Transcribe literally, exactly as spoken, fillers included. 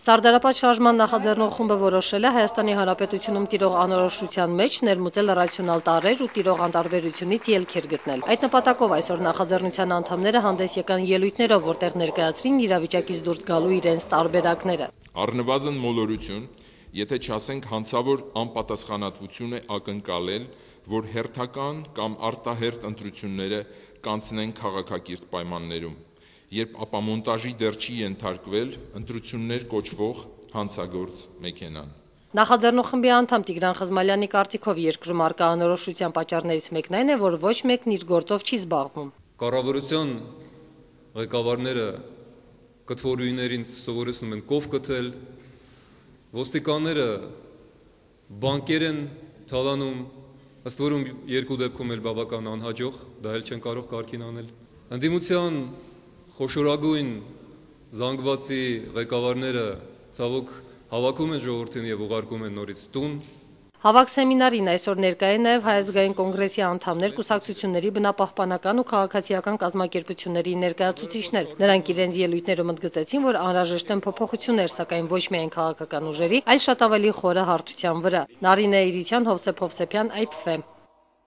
Սարդարապատ շարժման նախաձեռնող խումբը որոշել է Հայաստանի Հանրապետությունում տիրող անորոշության մեջ ներմուծել ռացիոնալ տարրեր ու տիրող անտարբերությունից ելքեր գտնել։ Այդ նպատակով այսօր նախաձեռնության անդամները հանդես եկան ելույթներով, որտեղ ներկայացրին իրավիճակից դուրս գալու իրենց տարբերակները։ Առնվազն մոլորություն, եթե չասենք հանցավոր անպատասխանատվություն է ակնկալել, որ հերթական կամ արտահերթ ընտրությունները կանցնեն քաղաքակիրթ պայմաններում, երբ ապամոնտաժի դեռ չի ենթարկվել ընտրություններ կոչվող հանցագործ մեքենան։ Նախաձեռնող խմբի անդամ Տիգրան Խզմալյանի կարծիքով երկրում առկա անորոշության պատճառներից մեկն այն է, որ ոչ մեկն իր գործով չի զբաղվում։ Կառավարության ղեկավարները կթվորուհիներին սովորեցնում են կով կթել, ոստիկանները բանկեր են թալանում, ըստ որում երկու դեպքում էլ բավական անհաջող, դա էլ չեն կարող կարգին անել։ Ընդդիմության խոշորագույն զանգվածի ղեկավարները ցավոք հավաքում են ժողովրդին եւ ուղարկում են նորից տուն։ Հավաք սեմինարին այսօր ներկայ են նաև Հայ ազգային կոնգրեսի անդամներ, կուսակցությունների, բնապահպանական ու քաղաքացիական կազմակերպությունների ներկայացուցիչներ։ Նրանք իրենց ելույթներում ընդգծեցին, որ անհրաժեշտ են փոփոխություններ, սակայն ոչ միայն քաղաքական ուժերի, այլ շատ ավելի խորը հարթության վրա։ Նարինե Իրիցյան, Հովսեփ Հովսեփյան, Այ Փ Ֆ։